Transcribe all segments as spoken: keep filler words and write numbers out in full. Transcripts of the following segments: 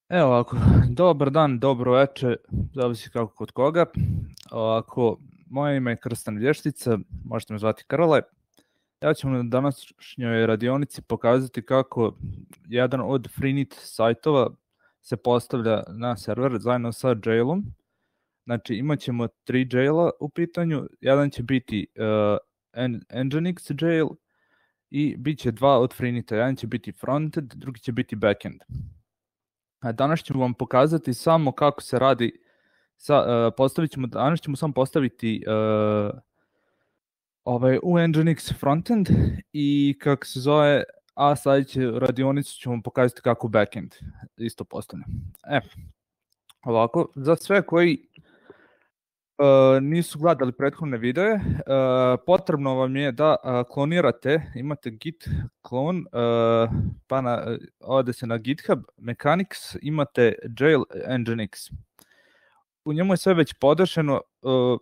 Evo ovako, dobar dan, dobro večer, zavisi kako kod koga. Ovako, moje ime je Krstan Vještica, možete me zvati Krle. Ja ću vam na današnjoj radionici pokazati kako jedan od Freenet sajtova se postavlja na server zajedno sa jailom. Znači imat ćemo tri jaila u pitanju, jedan će biti uh, Nginx jail i bit će dva od Freeneta, jedan će biti frontend, drugi će biti backend. Danas ćemo vam pokazati samo kako se radi, sa, uh, postavit ćemo, danas ćemo samo postaviti uh, ovaj, u Nginx frontend i kako se zove, a sljedeće radionicu ćemo vam pokazati kako backend isto postavlja. E, ovako, za sve koji uh, nisu gledali prethodne videe, uh, potrebno vam je da uh, klonirate, imate git klon, uh, pa na, ode se na GitHub, Mechanics, imate jail Nginx. U njemu je sve već podešeno, uh,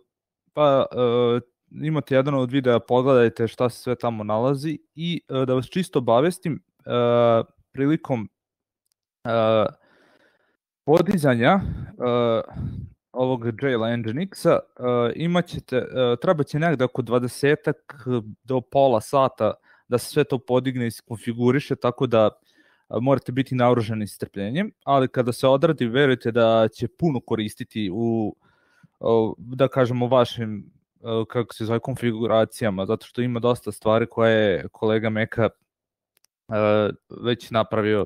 pa uh, imate jedan od videa, pogledajte šta se sve tamo nalazi i uh, da vas čisto obavestim, uh, prilikom uh, podizanja uh, ovog jaila Nginxa uh, imaćete, uh, treba će negde oko dvadesetak do pola sata da se sve to podigne i konfiguriše, tako da uh, morate biti naoružani strpljenjem, ali kada se odradi, verujte da će puno koristiti u, uh, da kažemo, vašim uh, kako se zove, konfiguracijama, zato što ima dosta stvari koje je kolega Meka uh, već napravio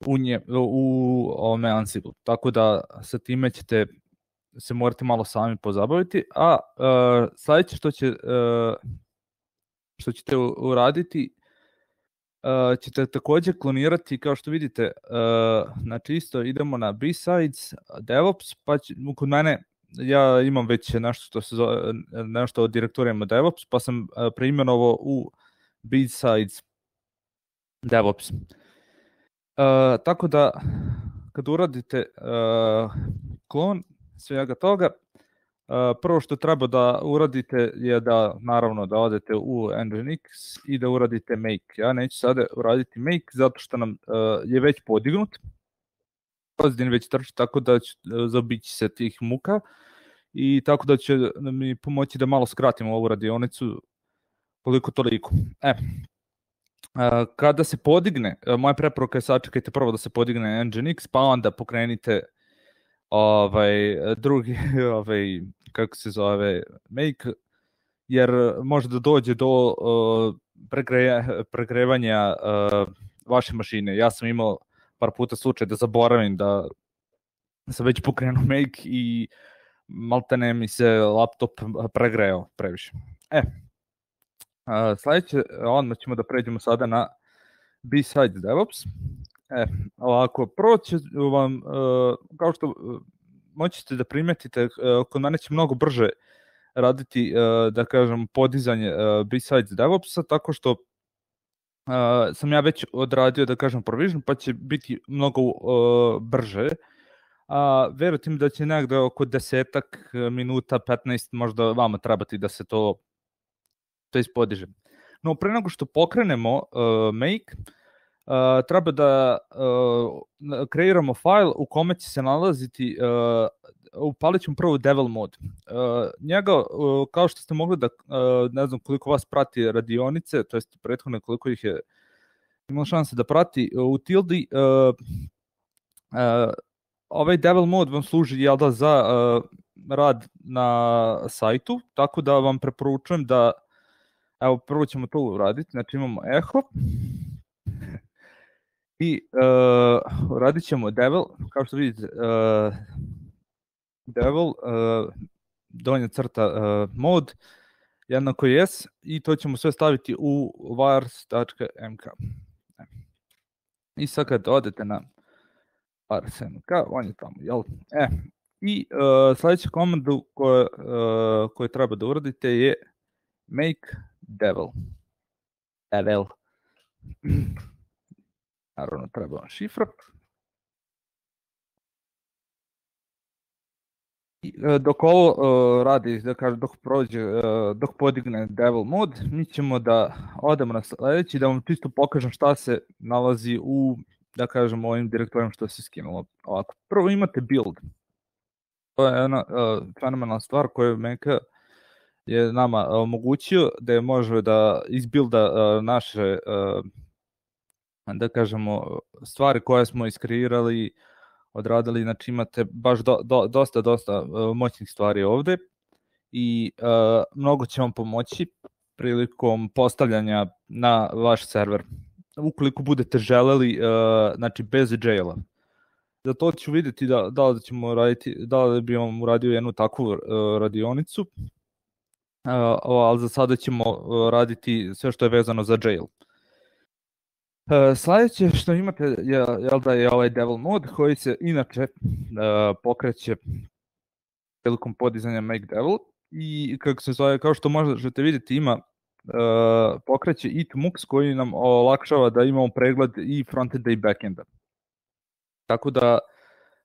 u, nje, u ovome Ansible, tako da sa time ćete se morate malo sami pozabaviti, a uh, sljedeće što će uh, što ćete uraditi, uh, ćete također klonirati, kao što vidite, uh, znači isto idemo na B-Sides, DevOps, pa će, kod mene, ja imam već nešto što se zove, nešto od direktorijama DevOps, pa sam uh, preimenovao u B-Sides DevOps. Uh, tako da, kad uradite uh, klon svega toga, uh, prvo što treba da uradite je da, naravno, da odete u Nginx i da uradite make. Ja neću sada uraditi make zato što nam uh, je već podignut, Pozdin već trči, tako da ću uh, zaobići se tih muka i tako da će mi pomoći da malo skratimo ovu radionicu koliko toliko. E, Uh, kada se podigne, uh, moja preporuka je sačekajte prvo da se podigne Nginx, pa onda pokrenite ovaj, drugi, ovaj, kako se zove, make, jer može da dođe do uh, pregre, pregrevanja uh, vaše mašine. Ja sam imao par puta slučaj da zaboravim da sam već pokrenuo make i maltene mi se laptop pregreo previše. E, Uh, sljedeće, onda ćemo da pređemo sada na B-Sides DevOps. E, ovako, prvo će vam, uh, kao što uh, moćete da primetite, uh, kod mene će mnogo brže raditi, uh, da kažem, podizanje uh, B-Sides DevOpsa, tako što uh, sam ja već odradio, da kažem, provision, pa će biti mnogo uh, brže. A verujte mi da će negde oko desetak minuta, petnaest možda vama trebati da se to to ispodiže. No, pre nego što pokrenemo uh, make, uh, treba da uh, kreiramo file u kome će se nalaziti, uh, upalit ćemo prvo devil mode. Uh, njega, uh, kao što ste mogli da, uh, ne znam koliko vas prati radionice, to jest prethodne koliko ih je imalo šanse da prati, uh, u Tildi, uh, uh, ovaj devil mode vam služi, jel da, za uh, rad na sajtu, tako da vam preporučujem da, evo, prvo ćemo to uraditi, znači imamo echo i uh, radit ćemo devil, kao što vidite, uh, devil, uh, donja crta uh, mod, jednako yes, i to ćemo sve staviti u vars.mk. I sad kad odete na vars.mk, on je tamo, jel? E, i uh, sljedeća komandu koju, uh, koju treba da uradite je make devil. Devil. Naravno, treba vam šifra. I, dok ovo uh, radi, da kažem, dok prođe, uh, dok podigne devil mod, mi ćemo da odemo na sljedeći, da vam čisto pokažem šta se nalazi u da kažemo, ovim direktorijom što se skinulo. Ovako, prvo imate build. To je jedna uh, fenomenalna stvar koju Menka je nama omogućio da je može da izbilda uh, naše uh, da kažemo stvari koje smo iskreirali, odradili, znači imate baš do, do, dosta, dosta uh, moćnih stvari ovde i uh, mnogo će vam pomoći prilikom postavljanja na vaš server. Ukoliko budete želeli, uh, znači bez jaila. Za to ću vidjeti da, da li ćemo raditi, da li bi vam uradio jednu takvu uh, radionicu, uh, ali za sada ćemo uh, raditi sve što je vezano za jail. Uh, sljedeće što imate je, je da je ovaj devil mod koji se inače uh, pokreće prilikom podizanja make devil i kako se zove, kao što možete vidjeti ima uh, pokreće itmux koji nam olakšava da imamo pregled i frontenda i backenda. Tako da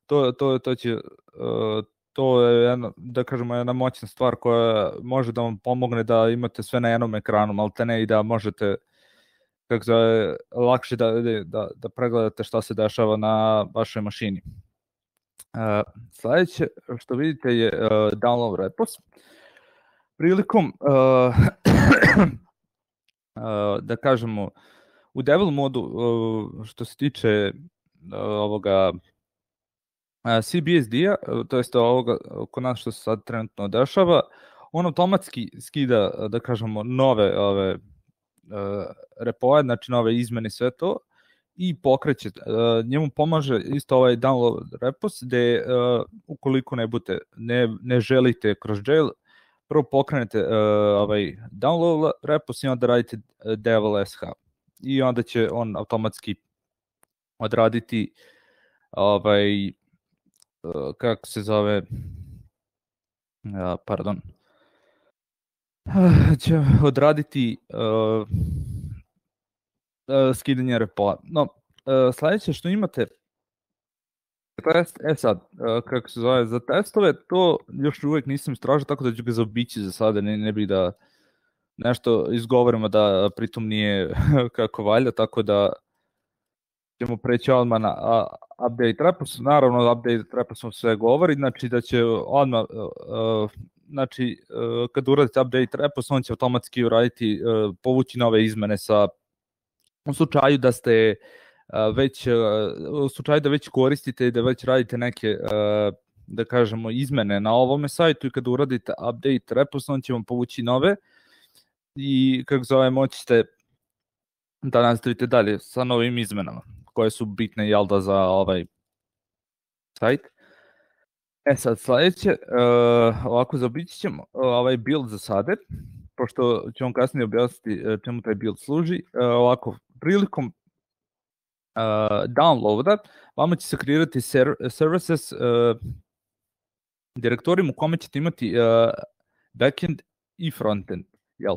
to, to, to će uh, to je jedna, da kažemo, jedna moćna stvar koja može da vam pomogne da imate sve na jednom ekranu, maltene, i da možete kako zove, lakše da, da, da pregledate šta se dešava na vašoj mašini. Uh, sljedeće što vidite je uh, download repos. Prilikom uh, uh, da kažemo u devil modu uh, što se tiče uh, ovoga uh, C B S D-a, uh, to jest ovoga kod nas što se sad trenutno dešava, on automatski skida, da kažemo, nove ove uh, repoje, znači nove izmene, sve to, i pokreće. Uh, njemu pomaže isto ovaj download repos, gde uh, ukoliko ne, budete, ne, ne želite kroz jail, prvo pokrenete uh, ovaj download repos i onda radite devil sh. I onda će on automatski odraditi ovaj, uh, kako se zove, uh, pardon, uh, će odraditi uh, uh, skidanje repoa. No, uh, sljedeće što imate, test, e sad, uh, kako se zove, za testove, to još uvijek nisam istražio, tako da ću ga zaobići za sada, ne, ne bih da nešto izgovorimo da pritom nije kako valja, tako da ćemo preći odmah na a, update repos. Naravno, update reposom sve govori, znači da će odmah, uh, znači uh, kad uradite update repos, on će automatski uraditi, uh, povući nove izmene sa, u slučaju da ste uh, već, uh, u slučaju da već koristite i da već radite neke, uh, da kažemo, izmene na ovome sajtu, i kad uradite update repos, on će vam povući nove i kako zove, moći ste da nastavite dalje sa novim izmenama koje su bitne, jel da, za ovaj sajt. E sad, sljedeće, uh, ovako zaobići ćemo uh, ovaj build za sade, pošto ćemo kasnije objasniti uh, čemu taj build služi. Uh, ovako, prilikom uh, downloada vama će se kreirati ser- services uh, direktorijum u kome ćete imati uh, backend i frontend, jel?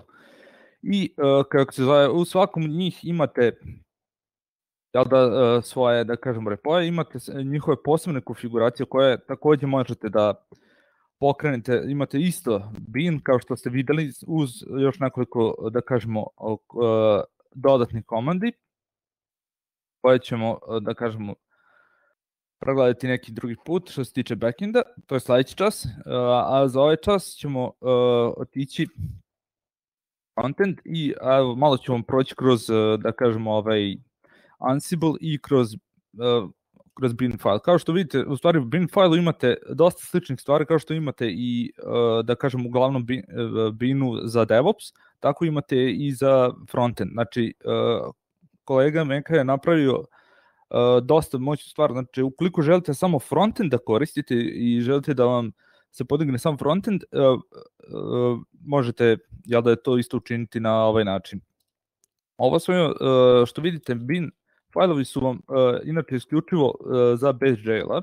I uh, kako se zove, u svakom njih imate, jel da, uh, svoje, da kažemo, repoje, imate njihove posebne konfiguracije koje takođe možete da pokrenete. Imate isto bin, kao što ste videli, uz još nekoliko, da kažemo, uh, dodatnih komandi koje ćemo, da kažemo, pregledati neki drugi put što se tiče backenda, to je sljedeći čas, uh, a za ovaj čas ćemo uh, otići content i a, malo ću vam proći kroz, da kažemo, ovaj Ansible i kroz, uh, kroz bin file. Kao što vidite, u stvari u bin fileu imate dosta sličnih stvari, kao što imate i, uh, da kažem, u glavnom bin, uh, binu za DevOps, tako imate i za frontend. Znači, uh, kolega Menka je napravio uh, dosta moćnu stvar. Znači, ukoliko želite samo frontend da koristite i želite da vam se podigne sam frontend, uh, uh, možete, jel da je to isto učiniti na ovaj način. Ovo sve uh, što vidite, bin failovi su vam uh, inače isključivo uh, za bez jaila,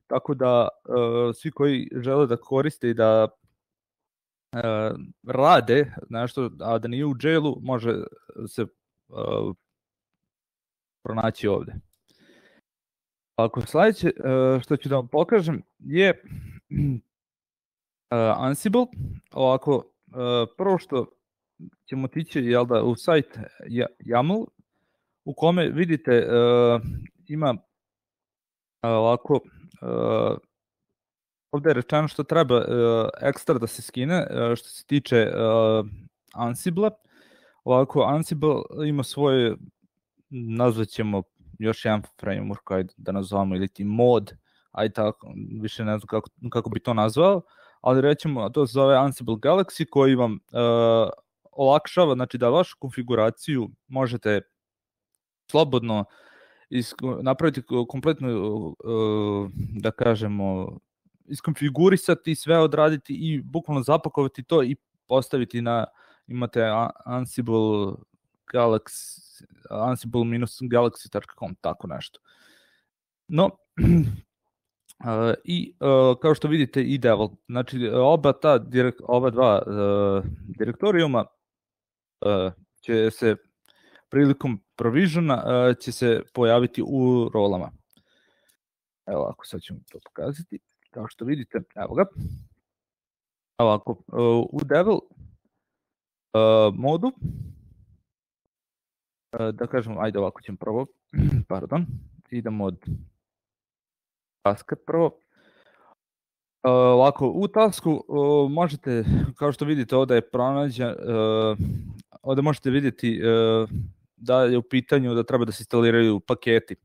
tako da uh, svi koji žele da koriste i da uh, rade nešto, a da nije u jailu, može se uh, pronaći ovde. Ako sljedeće uh, što ću da vam pokažem je Uh, Ansible. Ovako, uh, prvo što ćemo tići, jel da, u sajt YAML, u kome vidite uh, ima ovako, uh, ovdje je rečeno što treba uh, ekstra da se skine uh, što se tiče uh, Ansible. Ovako, Ansible ima svoje, nazvat ćemo još jedan framework, ajde da nazvamo, ili ti mod, ajde tako, više ne znam kako, kako bi to nazvao, ali rećemo, to se zove Ansible Galaxy, koji vam uh, olakšava, znači da vašu konfiguraciju možete slobodno isko, napraviti kompletno, uh, da kažemo, iskonfigurisati, sve odraditi i bukvalno zapakovati to i postaviti na, imate Ansible Galaxy, ansible-galaxy dot com, tako nešto. No, uh, i uh, kao što vidite i Devil, znači oba ta, direkt, oba dva uh, direktorijuma uh, će se prilikom provisiona uh, će se pojaviti u rolama. Evo ovako, sad ćemo to pokazati. Kao što vidite, evo ga. Ovako, uh, u Devil uh, modu, uh, da kažem, ajde ovako ćemo prvo, pardon, idemo od taska prvo. Uh, ovako, u tasku uh, možete, kao što vidite, ovdje je pronađen, uh, ovdje možete vidjeti uh, da je u pitanju da treba da se instaliraju paketi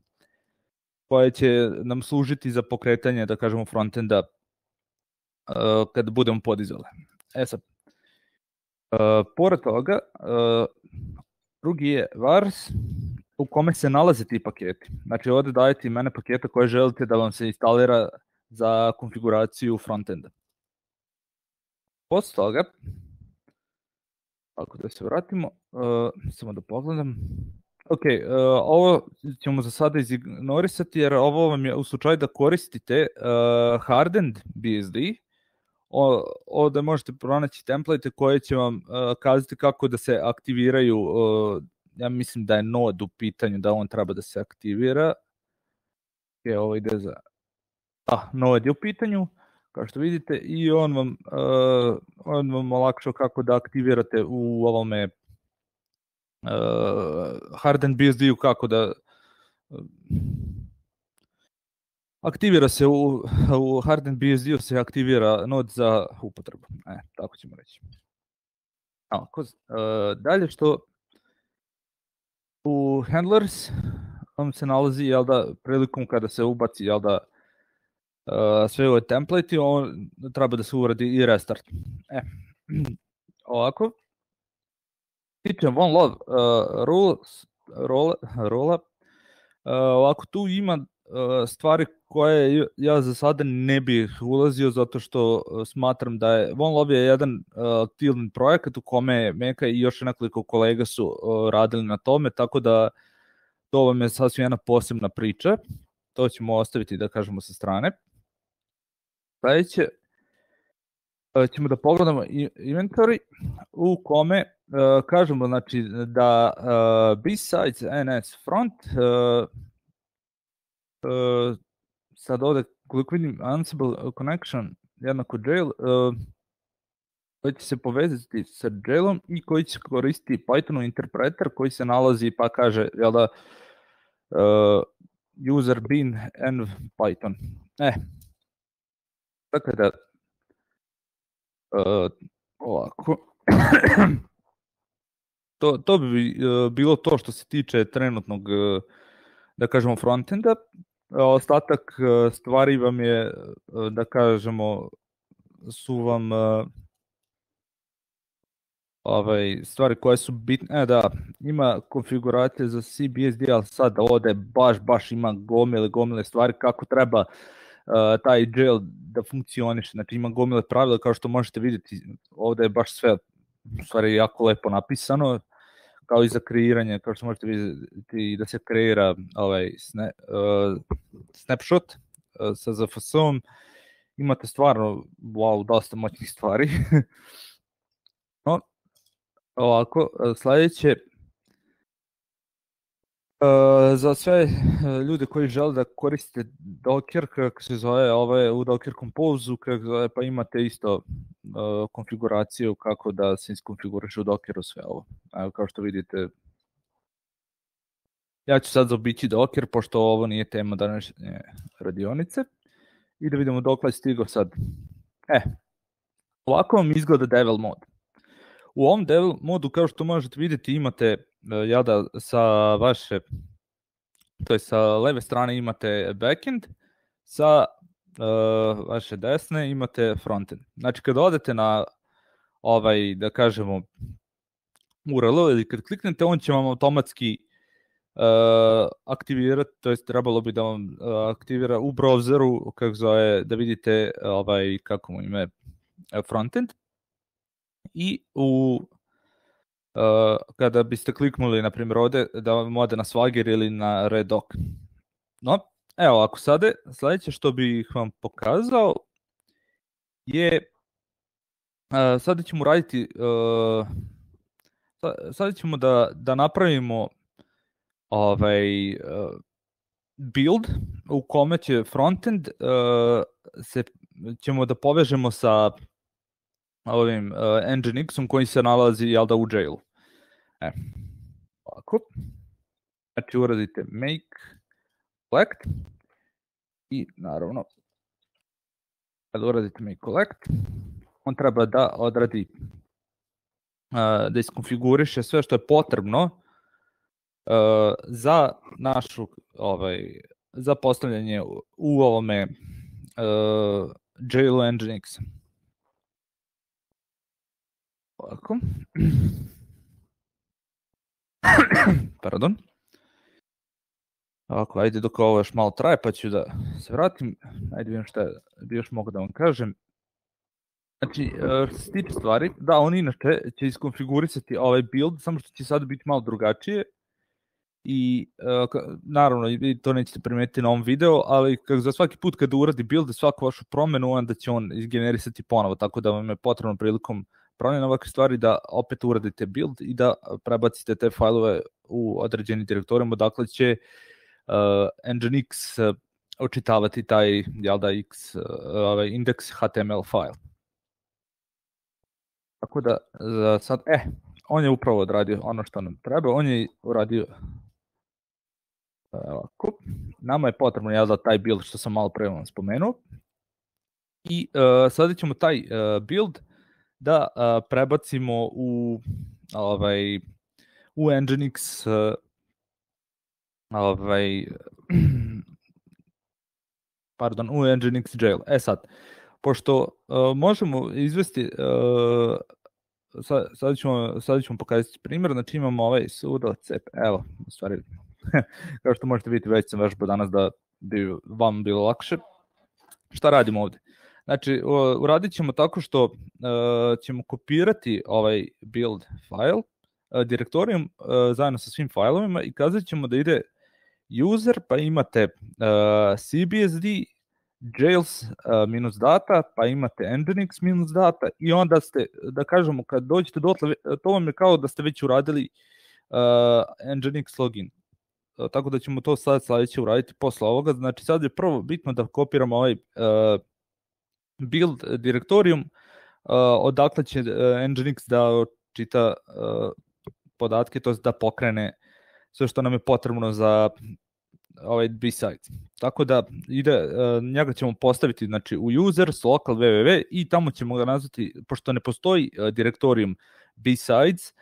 koje će nam služiti za pokretanje, da kažemo, frontenda uh, kad budemo podizali. E sad, uh, pored toga, uh, drugi je vars u kome se nalaze ti paketi. Znači ovdje dajete imene paketa koje želite da vam se instalira za konfiguraciju frontenda. Posle toga, ako da se vratimo, uh, samo da pogledam. Ok, uh, ovo ćemo za sada izignorisati jer ovo vam je u slučaju da koristite uh, hardened B S D. O, ovdje možete pronaći template koje će vam uh, kazati kako da se aktiviraju. Uh, ja mislim da je node u pitanju, da on treba da se aktivira. Ok, ovo ide za... Da, node je u pitanju, kao što vidite, i on vam, uh, on vam olakšao kako da aktivirate u ovome Uh, hardened B S D-u, kako da uh, aktivira se u, u hardened B S D-u se aktivira node za upotrebu. E, tako ćemo reći. Ako, uh, dalje što u handlers on se nalazi, jel da, prilikom kada se ubaci, jel da, uh, sve ove template, on treba da se uradi i restart. E, ovako. Tiče one love uh, rules, rola, rola. Uh, ovako tu ima uh, stvari koje ja za sada ne bih ulazio zato što uh, smatram da je One Love je jedan uh, tilden projekat u kome Meka i još nekoliko kolega su uh, radili na tome, tako da to vam je sasvim jedna posebna priča. To ćemo ostaviti, da kažemo, sa strane. Sljedeće uh, ćemo da pogledamo inventory u kome Uh, kažemo, znači, da uh, besides N S front, uh, uh, sad ovdje, koliko vidim, Ansible connection jednako jail, uh, koji će se povezati sa jailom i koji će koristiti Pythonu interpreter koji se nalazi, pa kaže, jel da, uh, user bin env Python. E, tako da, uh, ovako, To, to bi uh, bilo to što se tiče trenutnog, uh, da kažemo, frontenda. Ostatak uh, stvari vam je, uh, da kažemo, su vam uh, ovaj, stvari koje su bitne. E, da, ima konfiguracije za C B S D, ali sad ovdje baš, baš ima gomile, gomile stvari kako treba uh, taj jail da funkcioniše. Znači ima gomile pravila, kao što možete vidjeti, ovdje je baš sve u stvari jako lepo napisano, kao i za kreiranje, kao što možete vidjeti da se kreira ovaj sna, uh, snapshot uh, sa Z F S-om. Imate stvarno, wow, dosta moćnih stvari. No, ovako, sljedeće, uh, za sve ljude koji žele da koriste Docker, kako se zove, ovaj, u Docker Compose, kako zove, pa imate isto uh, konfiguraciju kako da se iskonfiguriše u Dockeru sve ovo. Evo, kao što vidite, Ja ću sad zaobići Docker, pošto ovo nije tema današnje radionice. I da vidimo dok je stigao sad. E, ovako vam izgleda Devil mode. U ovom Devil modu, kao što možete vidjeti, imate, ja da sa vaše, to je sa leve strane imate backend, sa uh, vaše desne imate frontend. Znači, kad odete na ovaj, da kažemo, U R L ili kad kliknete, on će vam automatski uh, aktivirati, to jest trebalo bi da vam uh, aktivira u browseru, kako zove, da vidite ovaj, kako mu ime, frontend. I u uh, kada biste kliknuli, na primjer, ovde, da vam ode na Swagger ili na Redoc. No, evo, ako sada, sledeće što bih vam pokazao je, uh, sada ćemo raditi, uh, sada ćemo da, da napravimo ovaj uh, build u kome će frontend uh, se, ćemo da povežemo sa ovim uh, Nginx-om koji se nalazi, jel da, u jailu. E, ovako. Znači uradite make collect i naravno kada uradite make collect, on treba da odradi, uh, da iskonfiguriše sve što je potrebno uh, za našu ovaj, za postavljanje u ovome uh, jailu Nginx. Ovako. Pardon. Ovako, ajde dok ovo još malo traje, pa ću da se vratim. Ajde vidim šta bi još mogu da vam kažem. Znači, što se tiče stvari, da, on inače će iskonfigurisati ovaj build, samo što će sad biti malo drugačije. I naravno, to nećete primetiti na ovom videu, ali za svaki put kada uradi build, svaku vašu promenu, onda će on izgenerisati ponovo, tako da vam je potrebno prilikom promjena ovakve stvari da opet uradite build i da prebacite te fajlove u određeni direktorijum, odakle će uh, Nginx uh, očitavati taj, jel da, x, uh, ovaj index H T M L file. Tako da za sad, eh, on je upravo odradio ono što nam treba, on je uradio ovako. Nama je potrebno, jel da, taj build što sam malo pre vam spomenuo. I uh, sada ćemo taj uh, build da uh, prebacimo u ovaj u Nginx uh, ovaj pardon, u Nginx jail. E sad, pošto uh, možemo izvesti uh, sad, sad, ćemo, sad ćemo pokazati primjer, znači imamo ovaj sudo cp, evo, u stvari, kao što možete vidjeti, već sam vežbao danas da bi vam bilo lakše. Šta radimo ovde? Znači, uradit ćemo tako što uh, ćemo kopirati ovaj build file, uh, direktorijum uh, zajedno sa svim failovima i kazat ćemo da ide user, pa imate uh, cbsd, jails uh, minus data, pa imate nginx minus data i onda ste, da kažemo, kad dođete dotle, to vam je kao da ste već uradili uh, nginx login. Uh, tako da ćemo to sad sledeće uraditi posle ovoga. Znači, sad je prvo bitno da kopiramo ovaj uh, build direktorijum, uh, odakle će uh, Nginx da čita uh, podatke, to je da pokrene sve što nam je potrebno za ovaj B-sides. Tako da ide, uh, njega ćemo postaviti, znači, u users, local www i tamo ćemo ga nazvati, pošto ne postoji uh, direktorijum B-sides,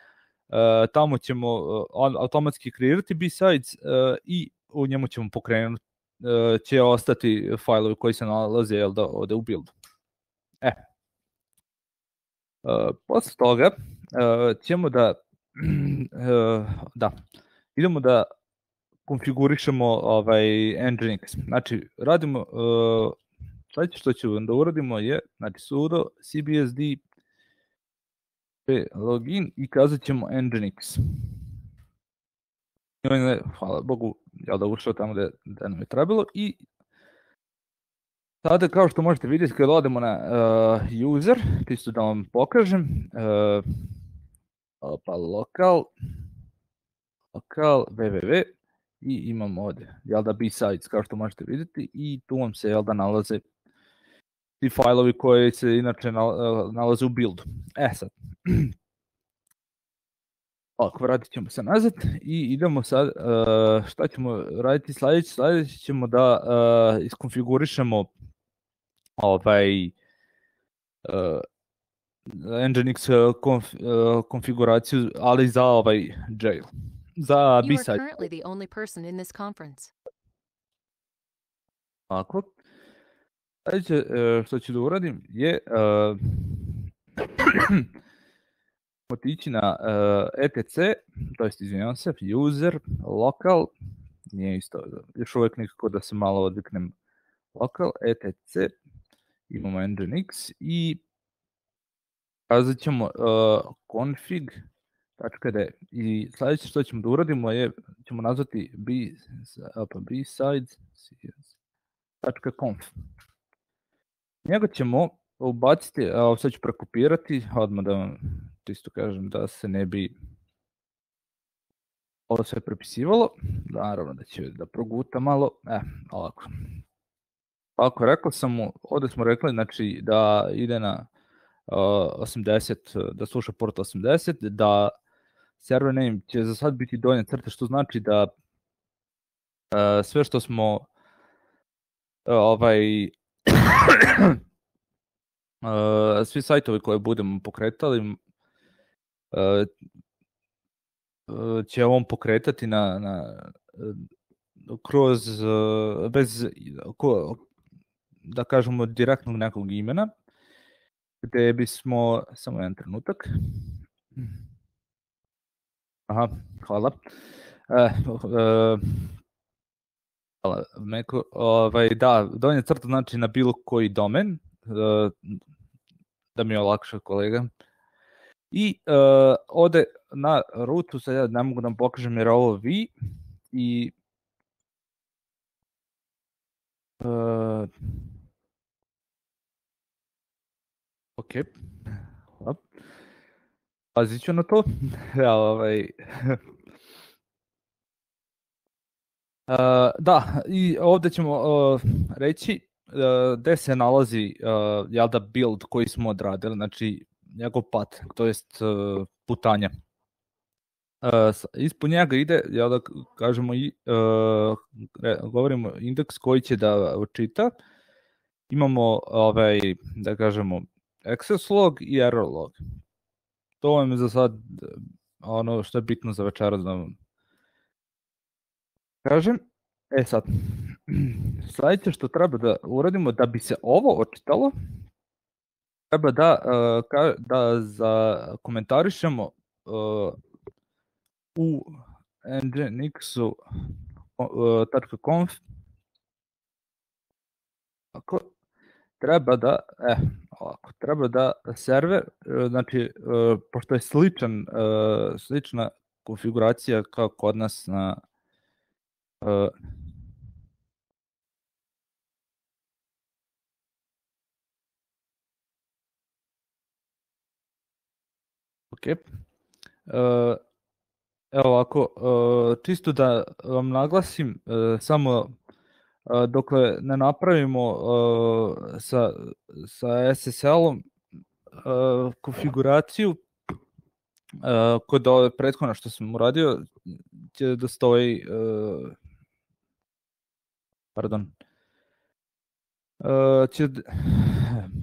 uh, tamo ćemo uh, automatski kreirati B-sides uh, i u njemu ćemo pokrenuti, uh, će ostati fajlovi koji se nalaze, jel da, ovde u buildu. E, uh, posle toga uh, ćemo da, uh, da, idemo da konfigurišemo ovaj Nginx. Znači, radimo, uh, sledeće što ćemo da uradimo je, znači, sudo cbsd login i kazat ćemo Nginx. I on je, hvala Bogu, jel da ušao tamo gde, gde nam je trebalo i sada, kao što možete vidjeti, kada odemo na uh, user, čisto da vam pokažem, uh, pa lokal, lokal, www, i imamo ovde, jel da, B-sides, kao što možete vidjeti, i tu vam se, jel da, nalaze ti fajlovi koji se inače nalaze u buildu. E sad, Ovako, vratit ćemo se nazad i idemo sad, uh, šta ćemo raditi sljedeće? Sljedeće ćemo da uh, iskonfigurišemo ovaj uh, Nginx konf, uh, konfiguraciju, ali za ovaj jail, za B-side. You are currently the only person in this conference. Ovako. Sljedeće uh, što ću da uradim je uh, otići na uh, etc, to jest izvinjavam se, user, local, nije isto, još uvijek nikako da se malo odviknem, local, etc, imamo nginx i kazat ćemo uh, config.d i sljedeće što ćemo da uradimo je, ćemo nazvati b, b-sides.conf. Njega ćemo ubaciti, a sad ću prekopirati, odmah da vam isto kažem da se ne bi ovo sve prepisivalo, naravno da će da proguta malo, e, ovako. Ovako, rekao sam mu, ovdje smo rekli, znači, da ide na uh, osamdeset, da sluša port osamdeset, da server name će za sad biti donja crta, što znači da uh, sve što smo uh, ovaj uh, svi sajtovi koje budemo pokretali uh, uh, će on pokretati na, na uh, kroz uh, bez ko, da kažemo direktnog nekog imena, gdje bismo, samo jedan trenutak, aha, hvala, e, e, hvala, Meko, ovaj, da, donja crta znači na bilo koji domen, e, da mi je olakša kolega, i e, ode na rutu, sad ja ne mogu da vam pokažem jer ovo vi, i e, ok, hvala. Pazit ću na to. Ja, ovaj... uh, da, i ovdje ćemo uh, reći uh, gdje se nalazi uh, jel da build koji smo odradili, znači njegov path, to jest uh, putanja. Uh, ispod njega ide, jel da kažemo, i, uh, govorimo indeks koji će da čita. Imamo, ovaj, da kažemo, access log i error log. To vam je za sad ono što je bitno za večeras da vam kažem. E sad, sljedeće što treba da uradimo da bi se ovo očitalo, treba da, uh, da za komentarišemo uh, u nginx dot conf. Ako treba da, eh, ovako, treba da server, znači, uh, pošto je sličan, uh, slična konfiguracija kao kod nas na uh, ok. Uh, evo ovako, uh, čisto da vam naglasim, uh, samo uh, dokle ne napravimo uh, sa, sa S S L-om uh, konfiguraciju, uh, kod ove prethodna što sam uradio, će da stoji, uh, pardon, uh, će,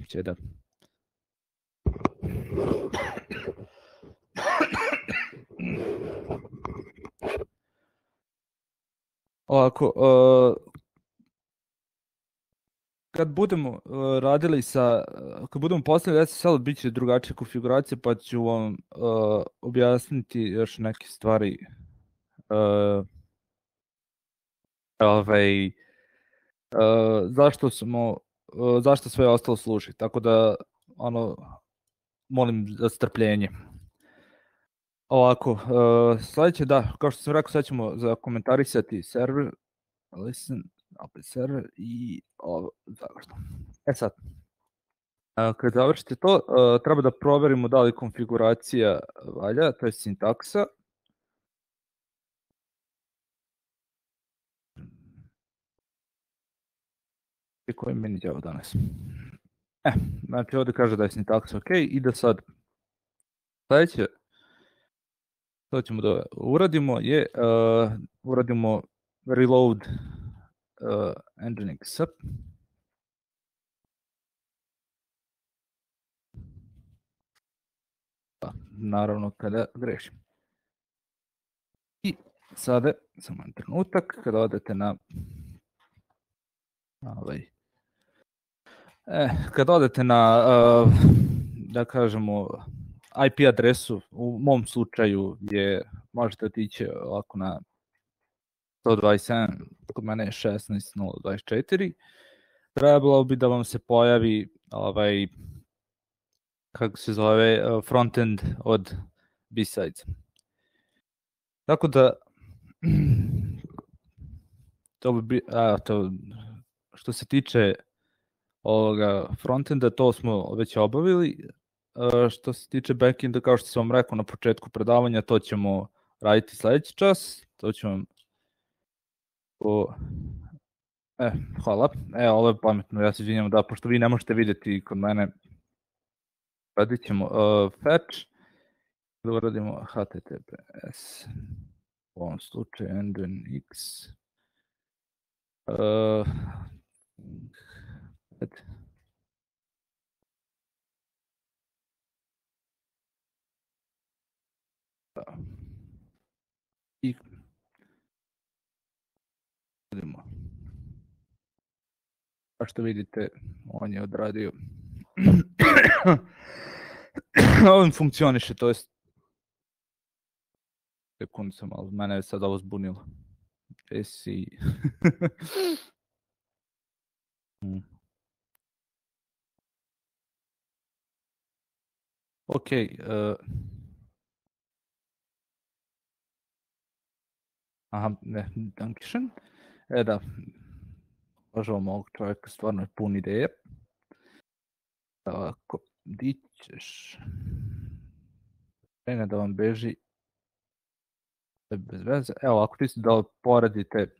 će da, ovako, uh, kad budemo uh, radili sa, uh, kad budemo postavili S S L, bit će drugačija konfiguracija, pa ću vam uh, objasniti još neke stvari, uh, ovaj, uh, zašto smo, uh, zašto sve ostalo služi, tako da, ono, molim za strpljenje. Ovako, uh, sljedeće, da, kao što sam rekao, sad ćemo zakomentarisati server, listen, opet server i ovo, završno. E sad, uh, kad završite to, uh, treba da proverimo da li konfiguracija valja, to je sintaksa. I koji meni djavo danas? E, znači ovdje kaže da je sintaksa ok i da sad sljedeće, to ćemo da uradimo je uh, uradimo reload uh, Nginx. Pa, naravno kada grešim. I sada, samo jedan trenutak, kada odete na ovaj, eh, kada odete na uh, da kažemo I P adresu, u mom slučaju je, možete otići ovako na sto dvadeset sedam, kod mene je šesnaest nula dvadeset četiri, trebalo bi da vam se pojavi ovaj, kako se zove, frontend od B-Sides. Tako da, to bi bi, a, to, što se tiče ovoga frontenda, to smo već obavili. A, što se tiče backenda, kao što sam vam rekao na početku predavanja, to ćemo raditi sledeći čas. To ću vam o... E, hvala. E, ovo je pametno, ja se izvinjam da, pošto vi ne možete vidjeti kod mene, radit ćemo uh, fetch, da uradimo H T T P S, u ovom slučaju Nginx. Uh, I vidimo. A što vidite, on je odradio. On funkcioniše, to jest sekund sam, ali mene je sad ovo zbunilo. Jesi... hmm. Ok, uh... aha, ne, dankišen. E da, možemo ovog čovjeka, stvarno je pun ideje. Tako, di ćeš? Krene da vam beži bez veze. Evo, ako ti da poredite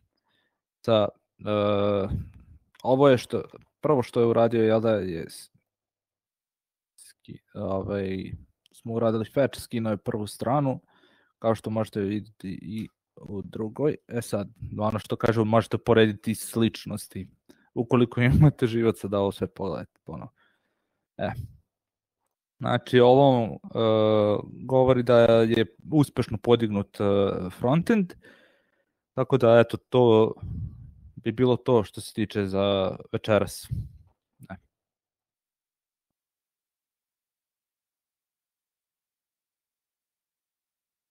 sa... Uh, ovo je što, prvo što je uradio, jel da je... Ski, ovaj, smo uradili fetch, skinuo je prvu stranu, kao što možete vidjeti i u drugoj. E sad, ono što kažu, možete porediti sličnosti. Ukoliko imate živaca da ovo sve pogledate ponovno. E. Znači, ovo uh, govori da je uspešno podignut uh, frontend, tako da, eto, to bi bilo to što se tiče za večeras.